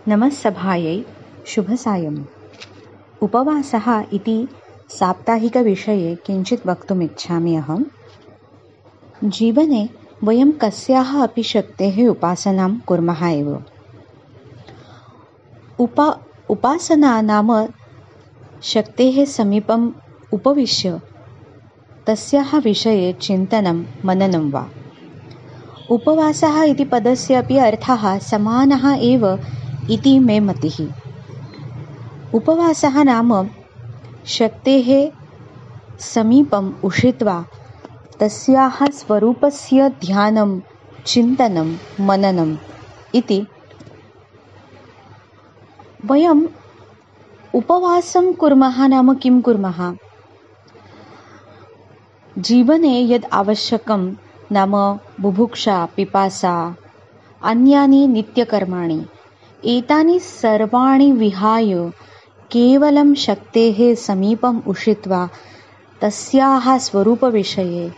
नमस्सभायै शुभसायम्। उपवासः इति साप्ताहिकविषये किञ्चित् वक्तुम् इच्छामि अहं। जीवने वयं कस्याः अपि शक्तेः उपासनां कुर्मः एव। उपासना नाम शक्तेः समीपम् उपविश्य तस्याः विषये चिन्तनं मननं वा। उपवासः इति पदस्य अपि अर्थः समानः एव इति मे मतिः। उपवासः नाम शक्तेः समीपम् उषित्वा तस्याः स्वरूपस्य ध्यानं चिन्तनं मननम् इति। वयम् उपवासं कुर्मः नाम किं कुर्मः? जीवने यद् आवश्यकं नाम बुभुक्षा, पिपासा, अन्यानि नित्यकर्माणि, एतानि सर्वाणि विहाय केवलं शक्तेः समीपम् उषित्वा तस्याः स्वरूपविषये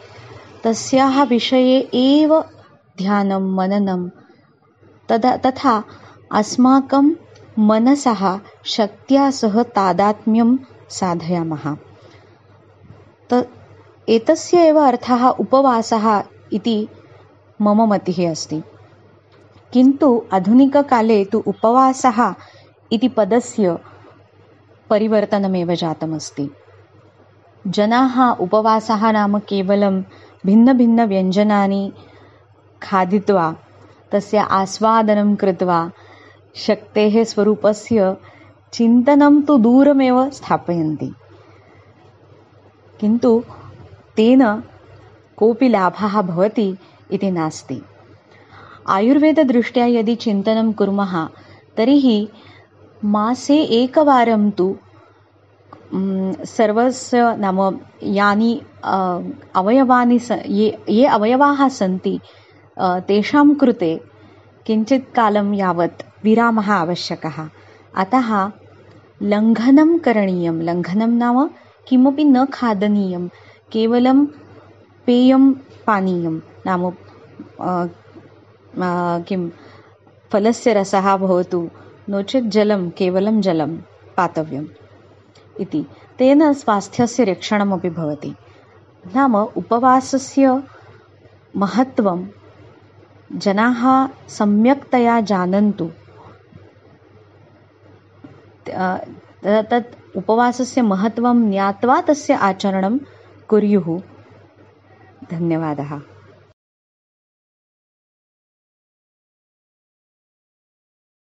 तस्याः विषये एव ध्यानं मननं तथा अस्माकं मनसः शक्त्या सह तादात्म्यं साधयामः। एतस्य एव अर्थः उपवासः इति मम मतिः अस्ति। किन्तु आधुनिककाले तु उपवासः इति पदस्य परिवर्तनमेव जातमस्ति। जनाः उपवासः नाम केवलं भिन्नभिन्नव्यञ्जनानि खादित्वा तस्य आस्वादनं कृत्वा शक्तेः स्वरूपस्य चिन्तनं तु दूरमेव स्थापयन्ति। किन्तु तेन कोऽपि लाभः भवति इति नास्ति। आयुर्वेददृष्ट्या यदि चिन्तनं कुर्मः तर्हि मासे एकवारं तु सर्वस्य नाम यानि अवयवानि ये अवयवाः सन्ति तेषां कृते किञ्चित् कालं यावत् विरामः आवश्यकः। अतः लङ्घनं करणीयं। लङ्घनं नाम किमपि न खादनीयं, केवलं पेयं पानीयं नाम फलस्य रसः भवतु, नो चेत् जलं, केवलं जलं पातव्यम् इति। तेन स्वास्थ्यस्य रक्षणमपि भवति। नाम उपवासस्य महत्त्वं जनाः सम्यक्तया जानन्तु। तत् उपवासस्य महत्त्वं ज्ञात्वा तस्य आचरणं कुर्युः। धन्यवादः।